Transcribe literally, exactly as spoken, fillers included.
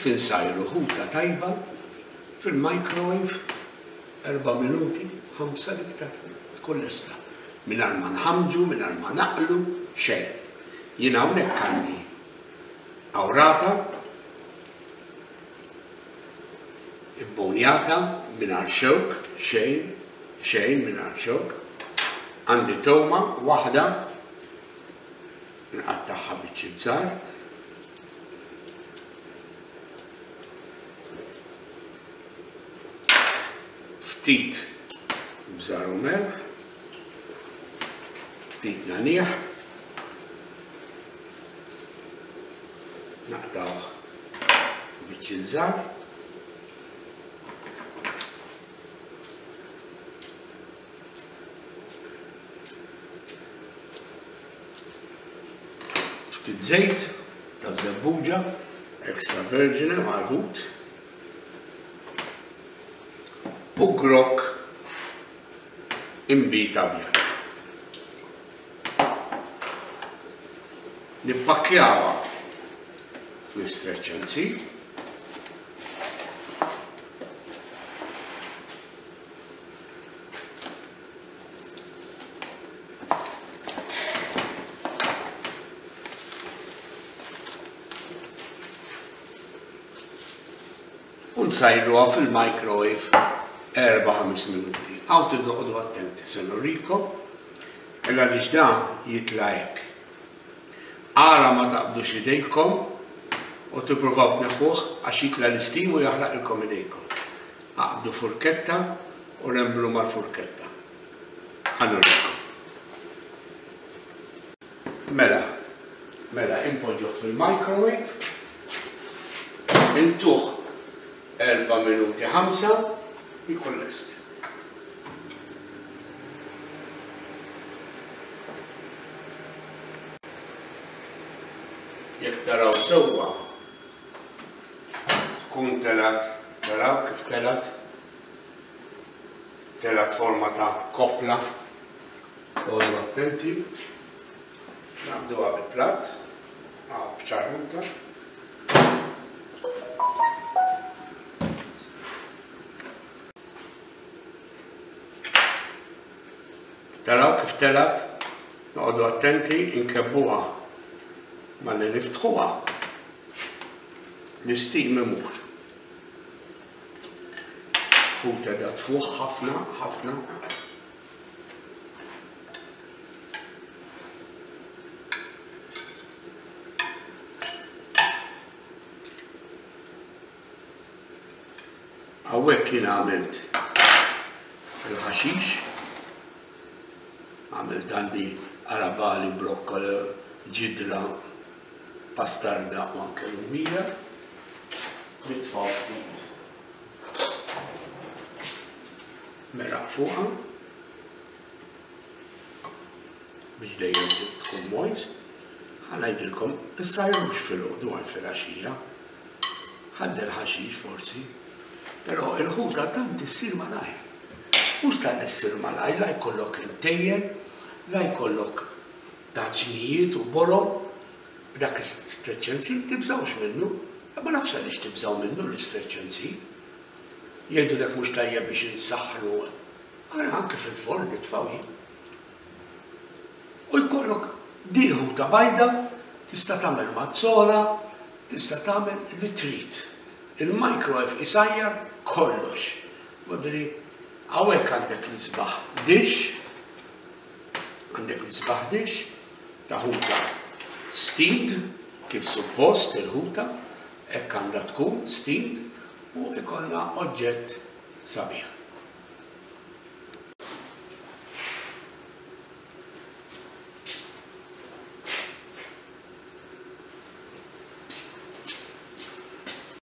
Kif insajru ħuta tajba fil-microwave erba' minuti, ħamsa l-iktar, tkun lesta. Mingħajr ma nħamġu, mingħajr ma naqlu, xejn. Jien hawnhekk għandi awrata, ibbonjata mingħajr xewk, xejn, xejn mingħajr xewk. Għandi toma waħda, nqattagħha biċċiet żgħar. Ftit bżar u melħ, ftit nagħnieh, naqtgħuh biċċiet żgħar. Ftit żejt ta' żebbuġa extra vergine mal-ħut u grokk inbid abjad. Nippakkjawha fl-istretch and seal. U nsajruha fil-microwave erba' ħames minuti. Hawn tiddoqgħodu attenti, se nurikom, illa għaliex dan jitla' hekk. Ara ma taqbdux idejkom u tippruvaw tneħħuh għax jitla' l-istim u jaħraqilkom idejkom. Aqbdu furketta u remblu mal-furketta. Ħa nurikom. Mela, mela impoġġuh fil-microwave, intuh erba' minuti ħamsa, jkun lest. Jekk taraw sewwa tkun telat, taraw kif telat, telat forma ta' koppla. Oqogħdu attenti, naqbduha bil-platt, għaw b'ċarruta. Taraw kif telat, noqogħdu attenti nkebbuha malli niftħuha l-istim imur. Ħuta da tfuħ ħafna, ħafna. Hawnhekk jien għamilt il-ħaxix, għamilt għandi arabali, brokkoli, ġidra, pastarda u anke lumija. Nitfgħu ftit meraq fuqha biex dejjem tkun moist. Ħa ngħidilkom, issajrux filgħodu għal filgħaxija, ħalli l-ħaxix forsi, però il-ħuta tant issir malajr. Mhux tal issir malajr, la jkollok imtejjen, la jkollok taġnijiet u borom, b'dak stretch and seal tibżgħux minnu. Ma nafx għaliex tibżgħu minnu l-istretch and seal. Jgħidulek mhux tajjeb biex insaħħnu, anke fil-forn nitfgħu jien. U jkollok dieħu ta' bajda, tista' tagħmel mazzola, tista' tagħmel li trid. Il-microwave isajjar kollox. Modri, hawnhekk għandek l-isbaħ dish, għandek l-isbaħ dish ta' ħuta steamed, kif suppost il-ħuta, hekk għandha tkun steamed, u ikollna oġġett sabiħ.